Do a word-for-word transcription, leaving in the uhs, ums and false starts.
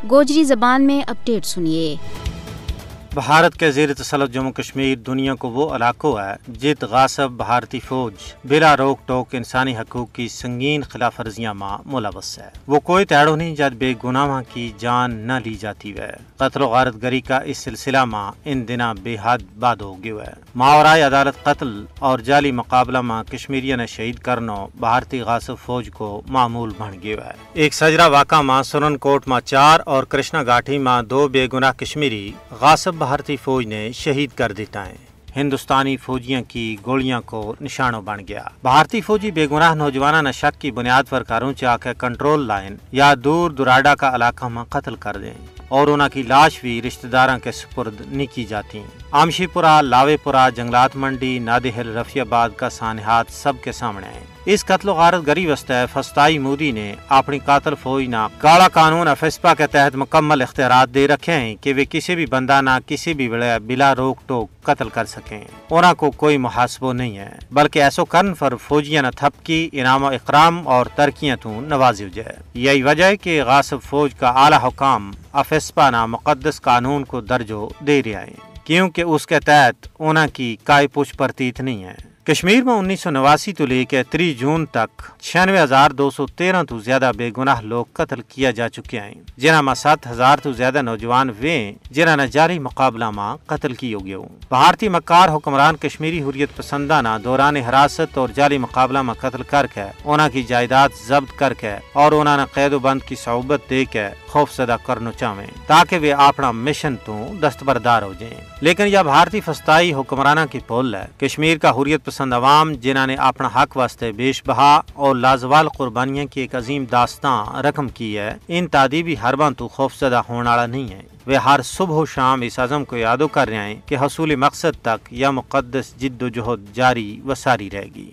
گوجری زبان میں اپڈیٹ سنیے۔ بھارت کے زیر تسلط جموں کشمیر دنیا کو وہ علاقو ہے جت غاصب بھارتی فوج بلا روک ٹوک انسانی حقوق کی سنگین خلاف ورزیاں ما ملوث ہے۔ وہ کوئی تیڑو نہیں جد بے گناہاں کی جان نہ لی جاتی وے۔ قتل و غارت گری کا اس سلسلہ ما ان دناں بے حد بعد ہو گیو ہے۔ ماورائے عدالت قتل اور جعلی مقابلہ ما کشمیریاں نے شہید کرنو بھارتی غاصب فوج کو معمول بن گیو ہے۔ ایک سجرا واقعہ ما سنن کوٹ ما چار اور کرشنا گاٹھی ما دو بے گناہ کشمیری غاصب بھارتی فوج نے شہید کر دیتا ہیں۔ ہندوستانی فوجیاں کی گولیاں کو نشانو بن گیا۔ بھارتی فوجی بے گناہ نوجواناں نا شک کی بنیاد پر کاروں چا کے کنٹرول لائن یا دور دراڈا کا علاقہ ما قتل کر دیں اور انہاں کی لاش بھی رشتہ داراں کے سپرد نہیں کی جاتی۔ آمشی پورا، لاوے پورا، جنگلات منڈی، نادی ہل، رفیع آباد کا سانحات سب کے سامنے ہیں۔ اس قتل و غارت گری واسطے فستائی مودی نے اپنی قاتل فوج نا کالا قانون افسپا کے تحت مکمل اختیارات دے رکھے ہیں کہ وہ کسی بھی بندہ نا کسی بھی ویلے بلا روک ٹوک قتل کر سکیں۔ انہاں کو کوئی محاسبو نہیں ہے، بلکہ ایسو کرن پر فوجیاں نا تھپکی، انعام و اکرام اور ترکیاں تو نوازیو جائے۔ یہی وجہ ہے کہ غاصب فوج کا اعلی حکام افسپا نا مقدس قانون کو درجو دے رہیا ہیں، کیونکہ اس کے تحت انہاں کی کائے پوچھ پرتیت نہیں ہے۔ کشمیر ما انیس سو نواسی تو لے کے تری جون تک چھیانوے ہزار دو سو تیرہ تو زیادہ بے گناہ لوگ قتل کیا جا چکیا ہیں، جنہاں ما ست ہزار تو زیادہ نوجوان وے ہیں جنہاں نا جعلی مقابلہ ما قتل کیو گیو۔ بھارتی مکار حکمران کشمیری حریت پسنداں نا دوران حراست اور جعلی مقابلہ ما قتل کر کے انہاں کی جائیداد ضبط کر کے اور انہاں نا قید و بند کی صعوبت دے کے خوف زدہ کرنو چاہویں تاکہ ویہ اپنا مشن تو دستبردار ہو جائیں۔ لیکن یا بھارتی فستائی حکمراناں کی پھول ہے۔ کشمیر کا حریت پسند عوام جنہاں نے اپنا حق واسطے بیش بہا اور لازوال قربانیاں کی ایک عظیم داستاں رقم کی ہے، ان تادیبی حرباں تو خوف زدہ ہون آڑا نہیں ہے۔ ویہ ہر صبح و شام اس عزم کو یادو کر رہیا ہیں کہ حصول مقصد تک یا مقدس جد و جہد جاری و ساری رہ گی۔